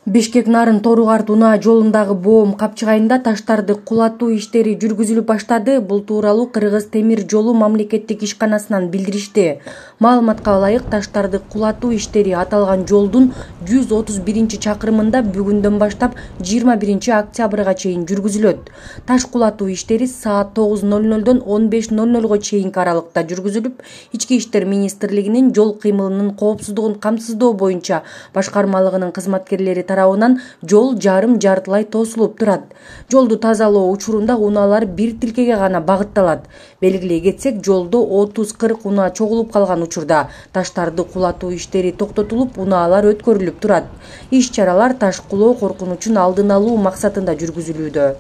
Бишкек-Нарын Тору-Карт унаа жолундагы боом капчыгайында таштарды кулатуу иштери жүргүзүлүп баштады. Бул тууралуу Кыргыз темир жолу мамлекеттик ишканасынан билдиришти. Маалыматка ылайык, таштарды кулатуу иштери аталган жолдун 131-чакырымында бүгүндөн баштап 21-октябрга чейин жүргүзүлөт. Таш кулатуу иштери саат 9:00дон 15:00 чейинки аралыкта жүргүзүлүп, Ички иштер министрлигинин жол кыймылынын коопсуздугун камсыздоо боюнча башкармалыгынын кызматкерлери тарабынан жол жарым-жартылай тосулуп турат. Жолду тазалоо учурунда унаалар бир тилкеге гана багытталат. Белгилей кетсек, жолдо 30-40 унаа чогулуп калган учурда таштарды кулатуу иштери токтотулуп, унаалар өткөрүлүп турат. Иш-чаралар таш кулоо коркунучун алдын алуу максатында жүргүзүлүүдө.